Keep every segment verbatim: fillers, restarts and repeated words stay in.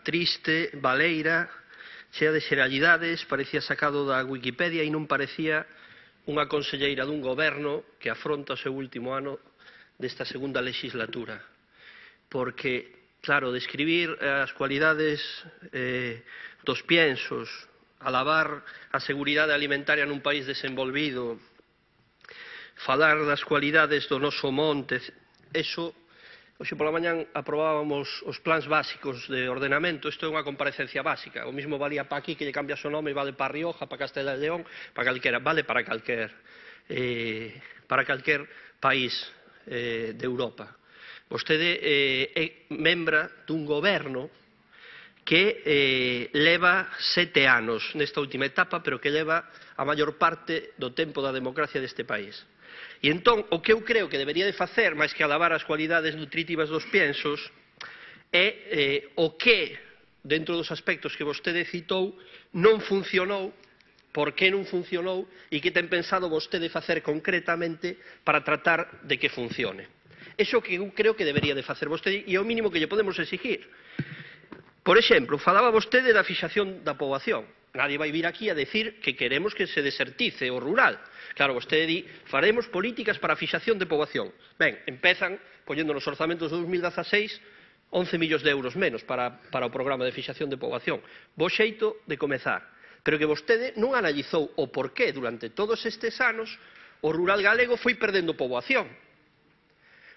triste, baleira, chea de xeralidades, parecía sacado da Wikipedia e non parecía unha conselleira dun goberno que afronta o seu último ano desta segunda legislatura. Porque, claro, describir as cualidades eh, dos piensos, alabar a seguridade alimentaria nun país desenvolvido, falar das cualidades do noso monte, eso, hoxe pola mañán aprobábamos os plans básicos de ordenamento, isto é unha comparecencia básica, o mismo valía para aquí que lle cambias o nome e vale para Rioja, para Castela e León, para calquera, vale para calquer, eh, para calquer país eh, de Europa. Vostede eh, é membra dun goberno que eh, leva sete anos nesta última etapa, pero que leva a maior parte do tempo da democracia deste país. E entón, o que eu creo que debería de facer, máis que alabar as cualidades nutritivas dos piensos, é eh, o que, dentro dos aspectos que vostede citou, non funcionou, por que non funcionou e que ten pensado vostede facer concretamente para tratar de que funcione. Iso que eu creo que debería de facer vostede e é o mínimo que lle podemos exigir. Por exemplo, falaba vostede da fixación da poboación. Nadie vai vir aquí a decir que queremos que se desertice o rural. Claro, vostede di, faremos políticas para a fixación de poboación. Ben, empezan, poñendo nos orzamentos de dos mil dezaseis, once millóns de euros menos para, para o programa de fixación de poboación. Bo xeito de comezar. Pero que vostede non analizou o porqué durante todos estes anos o rural galego foi perdendo poboación.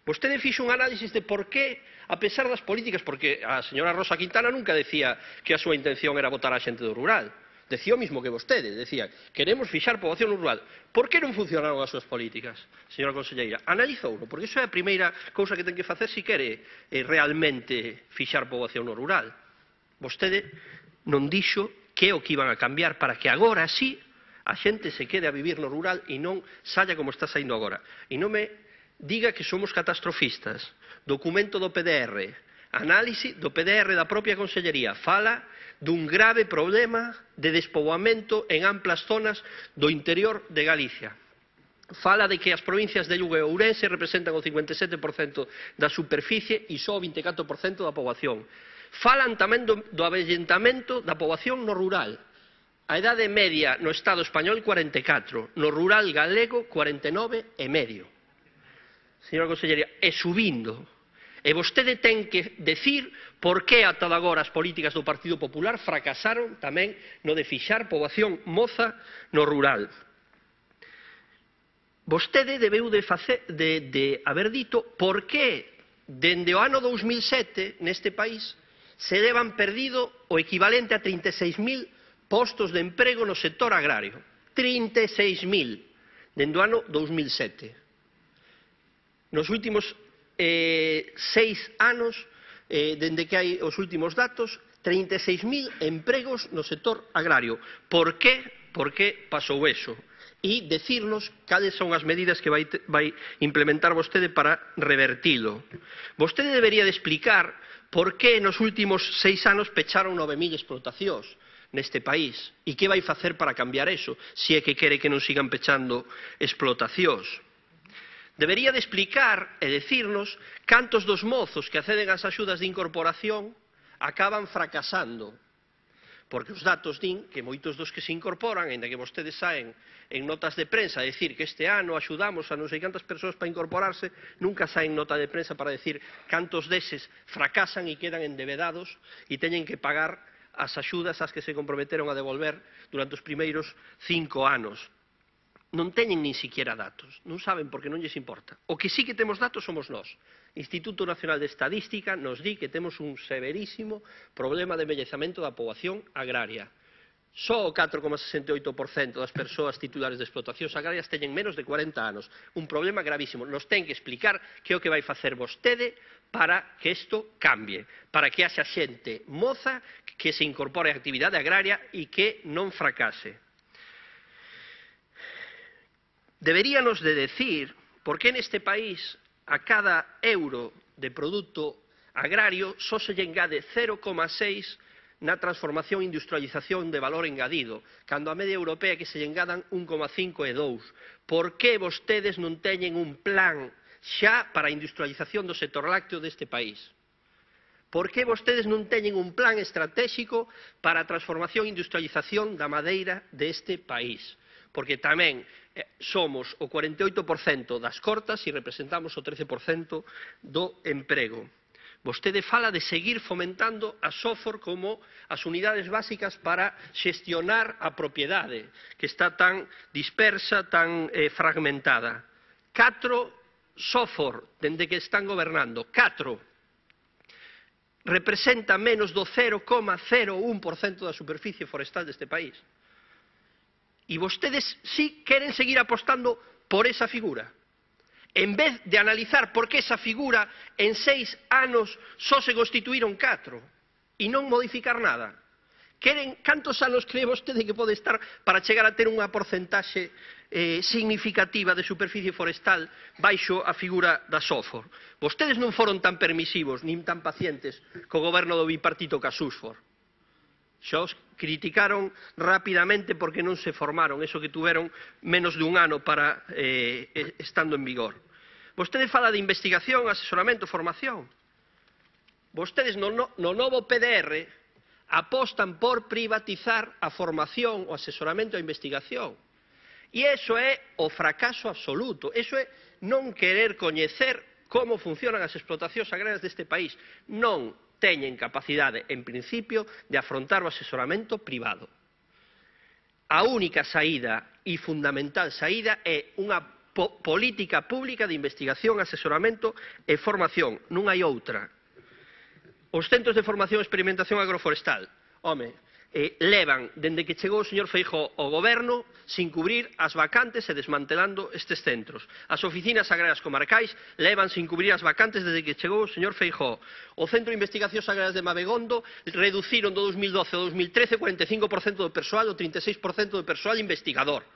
Vostede fixo un análisis de por qué, a pesar das políticas, porque a señora Rosa Quintana nunca decía que a súa intención era votar a xente do rural. Decía o mismo que vostede, decía, queremos fixar poboación no rural. Por que non funcionaron as súas políticas, señora conselleira? Analizouno, porque iso é a primeira cousa que ten que facer se quere eh, realmente fixar poboación no rural. Vostede non dixo que é o que iban a cambiar para que agora sí a xente se quede a vivir no rural e non saia como está saindo agora. E non me diga que somos catastrofistas. Documento do P D R, análise do P D R da propia Consellería, fala dun grave problema de despoboamento en amplas zonas do interior de Galicia. Fala de que as provincias de Lugo e Ourense representan o cincuenta e sete por cento da superficie e só o vinte e catro por cento da poboación. Falan tamén do, do avellentamento da poboación no rural. A idade media no Estado español cuarenta e catro, no rural galego cuarenta e nove e medio. Señora consellería, e subindo. E vostede ten que decir por que ata agora as políticas do Partido Popular fracasaron tamén no de fixar poboación moza no rural. Vostede debeu de, facer, de, de haber dito por que dende o ano dous mil sete neste país se levan perdido o equivalente a trinta e seis mil postos de emprego no sector agrario. trinta e seis mil dende o ano dous mil sete. Nos últimos eh, seis anos, eh, dende que hai os últimos datos, trinta e seis mil empregos no sector agrario. Por que? Por que pasou eso? E decirnos cales son as medidas que vai, vai implementar vostede para revertilo. Vostede debería de explicar por que nos últimos seis anos pecharon nove mil explotacións neste país e que vai facer para cambiar eso, se é que quere que non sigan pechando explotacións. Debería de explicar e decirnos cantos dos mozos que acceden ás axudas de incorporación acaban fracasando. Porque os datos din que moitos dos que se incorporan, ainda que vostedes saen en notas de prensa a decir que este ano axudamos a non sei cantas persoas para incorporarse, nunca saen nota de prensa para decir cantos deses fracasan e quedan endebedados e teñen que pagar as axudas ás que se comprometeron a devolver durante os primeiros cinco anos. Non teñen nin siquiera datos, non saben porque non lles importa. O que sí que temos datos somos nós. Instituto Nacional de Estadística nos di que temos un severísimo problema de envellecemento da poboación agraria. Só o catro coma sesenta e oito por cento das persoas titulares de explotacións agrarias teñen menos de cuarenta anos. Un problema gravísimo. Nos ten que explicar que é o que vai facer vostede para que isto cambie, para que haxa xente moza que se incorpore á actividade agraria e que non fracase. Deberíanos de decir por que neste país a cada euro de produto agrario só se lle engade cero coma seis na transformación e industrialización de valor engadido, cando a media europea que se lle engadan un coma cinco e dous. Por que vostedes non teñen un plan xa para a industrialización do sector lácteo deste país? Por que vostedes non teñen un plan estratégico para a transformación e industrialización da madeira deste país? Porque tamén eh, somos o cuarenta e oito por cento das cortas e representamos o trece por cento do emprego. Vostede fala de seguir fomentando a software como as unidades básicas para xestionar a propiedade, que está tan dispersa, tan eh, fragmentada. Catro software, dende que están gobernando, catro, representa menos do cero coma cero un por cento da superficie forestal deste país. E vostedes sí queren seguir apostando por esa figura. En vez de analizar por que esa figura en seis anos só se constituíron catro e non modificar nada. Queren, cantos anos cree vostede que pode estar para chegar a ter unha porcentaxe eh, significativa de superficie forestal baixo a figura da SOFOR? Vostedes non foron tan permisivos nin tan pacientes co goberno do bipartito ca SUSFOR. Xa os criticaron rapidamente porque non se formaron, eso que tuveron menos dun ano para eh, estando en vigor. Vostede fala de investigación, asesoramento, formación. Vostedes no, no, no novo P D R apostan por privatizar a formación, o asesoramento e a investigación. E iso é o fracaso absoluto. Iso é non querer coñecer como funcionan as explotacións agrarias deste país. Non teñen capacidade, en principio, de afrontar o asesoramento privado. A única saída e fundamental saída é unha po política pública de investigación, asesoramento e formación. Non hai outra. Os centros de formación e experimentación agroforestal, home, eh, levan, dende que chegou o señor Feijóo ao goberno, sin cubrir as vacantes e desmantelando estes centros. As oficinas agrarias comarcais levan sin cubrir as vacantes desde que chegou o señor Feijóo. O Centro de Investigacións Agrarias de Mabegondo reduciron do dos mil doce ao dos mil trece o cuarenta e cinco por cento do persoal, o trinta e seis por cento do persoal investigador.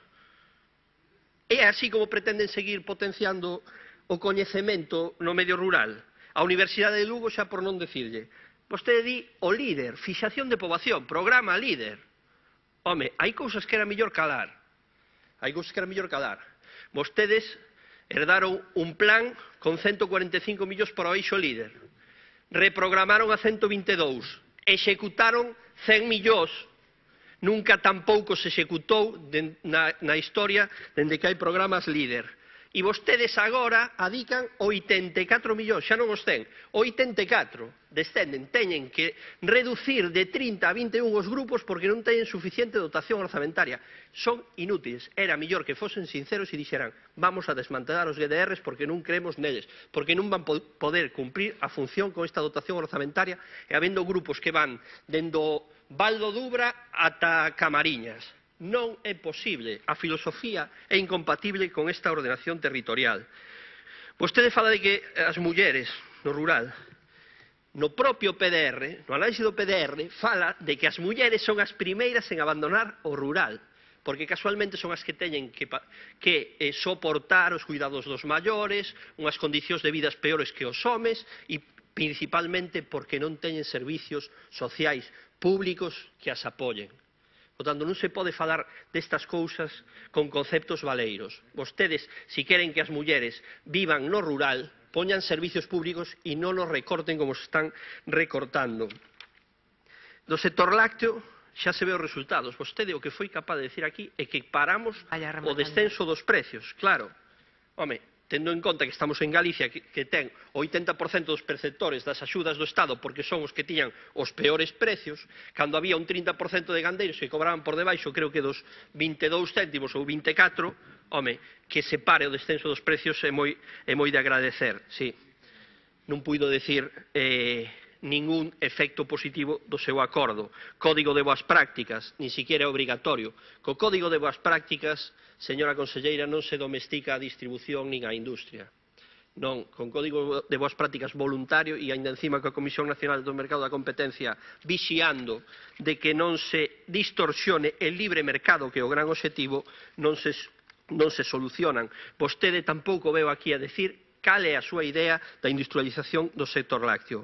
É así como pretenden seguir potenciando o coñecemento no medio rural. A Universidade de Lugo, xa por non decirlle, vostede di o líder, fixación de poboación, programa líder. Home, hai cousas que era mellor calar. Hai cousas que era mellor calar. Vostedes herdaron un plan con ciento cuarenta e cinco millóns para o eixo líder. Reprogramaron a ciento vinte e dous. Executaron cen millóns. Nunca tampouco se executou na, na historia dende que hai programas líder. E vostedes agora adican oitenta e catro millóns, xa non os ten, oitenta e catro, descenden, teñen que reducir de trinta a vinte e un os grupos porque non teñen suficiente dotación orzamentaria. Son inútiles, era mellor que fosen sinceros e dixeran vamos a desmantelar os G D Rs porque non creemos neles, porque non van poder cumprir a función con esta dotación orzamentaria e habendo grupos que van dendo Valdo Dubra ata Camariñas. Non é posible, a filosofía é incompatible con esta ordenación territorial. Vostede fala de que as mulleres no rural, no propio P D R, no análisis do P D R, fala de que as mulleres son as primeiras en abandonar o rural, porque casualmente son as que teñen que, que eh, soportar os cuidados dos maiores, unhas condicións de vidas peores que os homes, e principalmente porque non teñen servicios sociais públicos que as apoyen. Por tanto, non se pode falar destas cousas con conceptos valeiros. Vostedes, se queren que as mulleres vivan no rural, poñan servicios públicos e non os recorten como se están recortando. Do sector lácteo xa se ve os resultados. Vostede o que foi capaz de decir aquí é que paramos o descenso dos precios. Claro, home, tendo en conta que estamos en Galicia, que, que ten o oitenta por cento dos perceptores das axudas do Estado porque son os que tiñan os peores precios, cando había un trinta por cento de gandeiros que cobraban por debaixo, creo que dos vinte e dous céntimos ou vinte e catro, home, que se pare o descenso dos precios é moi, é moi de agradecer, sí. Non puido decir eh, ningún efecto positivo do seu acordo. Código de boas prácticas, nin siquiera é obrigatorio. Co Código de boas prácticas, señora conselleira, non se domestica a distribución nin a industria. Non, con Código de boas prácticas voluntario e ainda encima coa Comisión Nacional do Mercado da Competencia vixiando de que non se distorsione el libre mercado, que é o gran obxectivo, non se, non se solucionan. Vostede tampouco veo aquí a decir cal é a súa idea da industrialización do sector lácteo.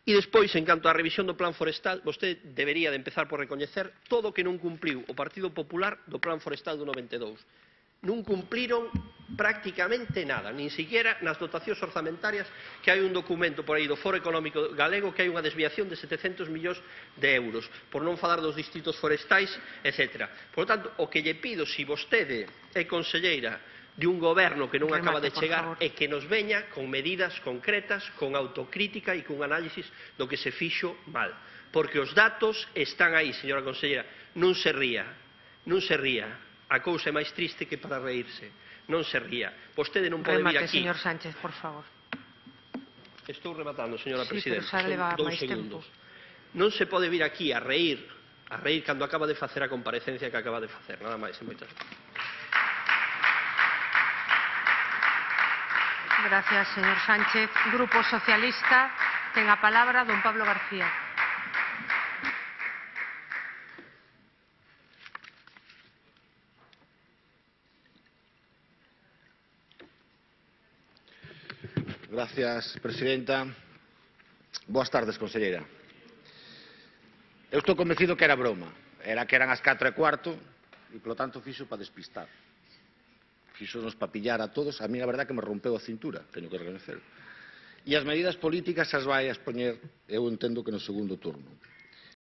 E despois, en canto á revisión do plan forestal, vostede debería de empezar por recoñecer todo o que non cumpriu o Partido Popular do plan forestal do noventa e dous. non cumpliron prácticamente nada, nin siquiera nas dotacións orzamentarias, que hai un documento por aí do Foro Económico Galego que hai unha desviación de setecentos millóns de euros, por non falar dos distritos forestais, etcétera. Por lo tanto, o que lle pido, se vostede é conselleira de un goberno que non Remate, acaba de por chegar, favor. é que nos veña con medidas concretas, con autocrítica e con análisis do que se fixo mal. Porque os datos están aí, señora conselleira, non se ría, non se ría. A cousa é máis triste que para reírse. Non se ría. Vostede non pode vir Remate, aquí. señor Sánchez, por favor. Estou rematando, señora Sí, presidenta. pero xa leva Son dous máis segundos. tempo. Non se pode vir aquí a reír, a reír cando acaba de facer a comparecencia que acaba de facer. Nada máis e moitas gracias. Gracias, señor Sánchez. Grupo Socialista, ten a palabra don Pablo García. Gracias, presidenta. Boas tardes, conselleira. Eu estou convencido que era broma. Era que eran as catro e cuarto e, polo tanto, fixo para despistar. Fixo nos para pillar a todos. A mí, a verdad, que me rompeu a cintura, teño que reconocer. E as medidas políticas as vai a expoñer, eu entendo que no segundo turno.